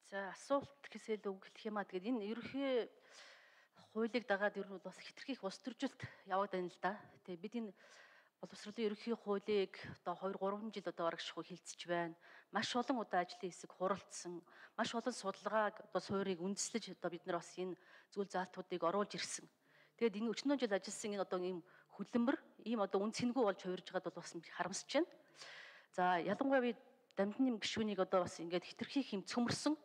За асуулт гэхээсээ л үг хэлэх юм аа. Тэгээд энэ ерөнхий хуулийг дагаад ер нь бол бас хэтэрхий их улс төржилт яваад байна л да. Тэгээд бид энэ боловсролын ерөнхий хуулийг одоо 2 3 жил одоо барагшгүй хилцэж байна. Маш олон удаа ажлын хэсэг хуралдсан. Маш олон судалгааг одоо суурийг үндэслэж одоо бид нар бас энэ зүйл заалтуудыг оруулж ирсэн. Тэгээд энэ 40 жил ажилласан энэ одоо ийм хөдөлмөр, ийм одоо үн цэнгүй болж хувирж байгаад бол бас харамсаж байна. За ялангуяа би дамжны гишүүнийг одоо бас ингээд хэтэрхий хэм цөмөрсөн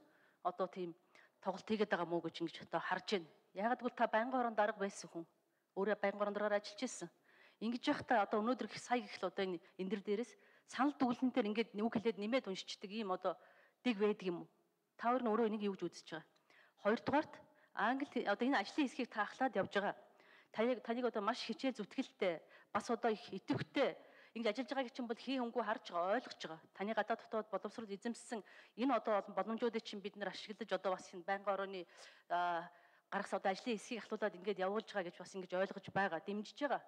одоо тийм тоглолт хийгээд байгаа мó гэж ингэж одоо харж байна. Ягаад гэвэл та байнгын хорон дарга байсан хүн. Өөрөө байнгын хорон дараагаар ажиллаж ирсэн. Ингэж явахдаа одоо өнөөдөр сая гэх л одоо энэ дэр дээрээс санал дүгнэлтээр ингээд үг хэлээд нэмээд уншичдаг ийм одоо дэг байдаг юм уу? Та хоёр нь өөрөө энийг юу гэж үзэж байгаа? Хоёрдугаарт англи одоо энэ ажлын хэсгийг та ахлаад явж байгаа. Таныг одоо маш хичээл зүтгэлтэй бас одоо их идэвхтэй ингэж ажиллаж байгааг чинь бол хий хөнгөө харж байгаа, ойлгож байгаа. Таны гадаад дотоод боловсрол эзэмссэн энэ одоо боломжуудыг чинь бид нар ашиглаж одоо бас энэ байнгын орооны гаргасан одоо ажлын хэсгийг ахлуулад ингэж явуулж байгаа гэж бас ингэж ойлгож байгаа, дэмжиж байгаа.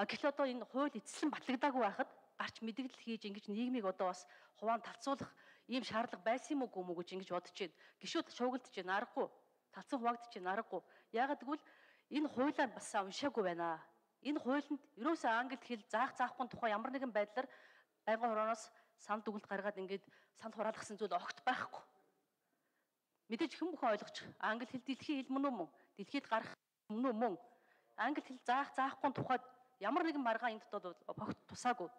Гэтэл одоо энэ хууль эцэслэн батлагдаагүй байхад гарч мэдээлэл хийж ингэж нийгмийг одоо бас хуваан талцуулах ийм шаардлага байсан юм уу гэж ингэж бодож байна. Гишүүд шуугилдж байна, аргагүй. Талцсан хуваагдж байна, аргагүй. Ягаад гэвэл энэ хуулиар бас уншаагүй байна. Энэ хуулинд ерөөсөө англи хэл заахгүй тухай ямар нэгэн байдлаар байнгын хорооноос санал дүгнэлт гаргаад ингээд санал хураалгасан зүйл огт байхгүй. Мэдээж хэн бүхэн ойлгож англи хэл дэлхийн хэл мөн үү мөн? Дэлхийд гарах мөн үү мөн? Англи хэл заахгүй тухайд ямар нэгэн маргаан энд дотоод огт тусаагүй.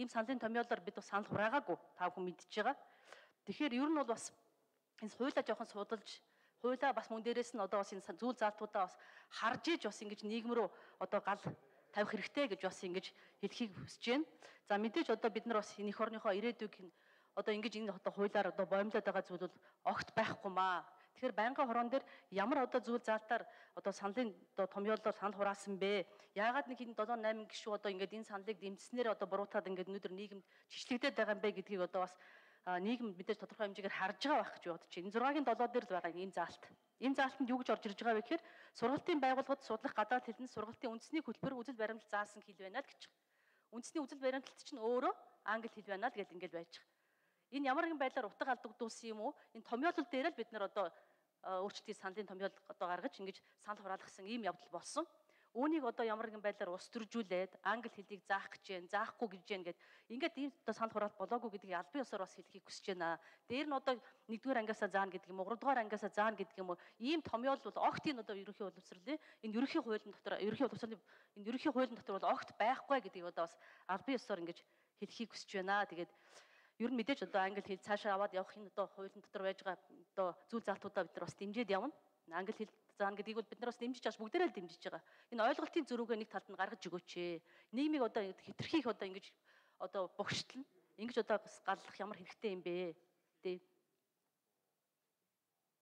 Ийм саналын томьёолоор бид бас санал хураагаагүй. Та бүхэн мэдж байгаа. Тэгэхээр ер нь бол бас энэ хуулиа жоохон судалж хуулиа бас мөн дээрээс нь одоо бас энэ зүйл заалтуудаа бас харж иж бас ингэж нийгэм рүү одоо гал тавих хэрэгтэй гэж бас ингэж хэлхийг хүсэж байна. За мэдээж одоо бид нар бас энэ эх орныхоо ирээдүйг одоо ингэж энэ одоо хуулиар одоо боомлоод байгаа зүйл бол огт байхгүй маа. Тэгэхээр байнгын хорон дээр ямар одоо зүйл заалтаар одоо саналын одоо томьёолоор санал хураасан бэ? Яагаад нэг энэ 7 8 гишүү одоо ингэж энэ саналыг дэмжснээр одоо буруутаад ингэж өнөөдөр нийгэмд жичлэгдээд байгаа юм бэ гэдгийг одоо бас нийгэм мэдээж тодорхой хэмжээгээр харж байгаа байх гэж бодож байна. 6-гийн 7 дээр л байгаа ийм заалт. Энэ заалтанд юу гэж орж ирж байгаа вэ гэхээр сургалтын байгууллагад судлах гадаад хэлний сургалтын үндэсний хөтөлбөр үзэл баримтлал заасан хэл байна л гэж. Үндэсний үзэл баримтлалт чинь өөрөө англи хэл байна л гэж ингэж байж байгаа. Энэ ямар нэгэн байдлаар утга алдагдуулсан юм уу? Энэ томьёолол дээр л бид нар одоо өөрчлөлтийн саналын томьёол одоо гаргаж ингэж санал хураалгасан ийм явдал болсон. Үүнийг одоо ямар нэгэн байдлаар ус төржүүлээд англи хэлийг заах гэж байна, заахгүй гэж байна гэд ингээд ийм одоо санал хураалт болоогүй гэдгийг албан ёсоор бас хэлхийг хүсэж байна. Дээр нь одоо 1-р ангиасаа заана гэдэг юм уу, 3-р ангиасаа заана гэдэг юм уу, ийм томьёол бол огт энэ одоо ерөнхий боловсролын энэ ерөнхий хуулийн дотор ерөнхий боловсролын энэ ерөнхий хуулийн дотор бол огт байхгүй гэдгийг одоо бас албан ёсоор ингэж хэлхийг хүсэж байна. Тэгээд ер нь мэдээж одоо англи хэл цаашаа аваад явах энэ одоо хуулийн дотор байж байгаа одоо зүйл заалтуудаа бид нар бас дэмжиж явна. Англи хэл заана гэдгийг бол бид нар бас дэмжиж байгаа, бүгдээрээ л дэмжиж байгаа. Энэ ойлголтын зөрүүгээ нэг талд нь гаргаж өгөөч. Нийгмийг одоо хэтэрхийх одоо ингэж одоо бугштлна. Ингэж одоо бас галлах ямар хэрэгтэй юм бэ? Тэ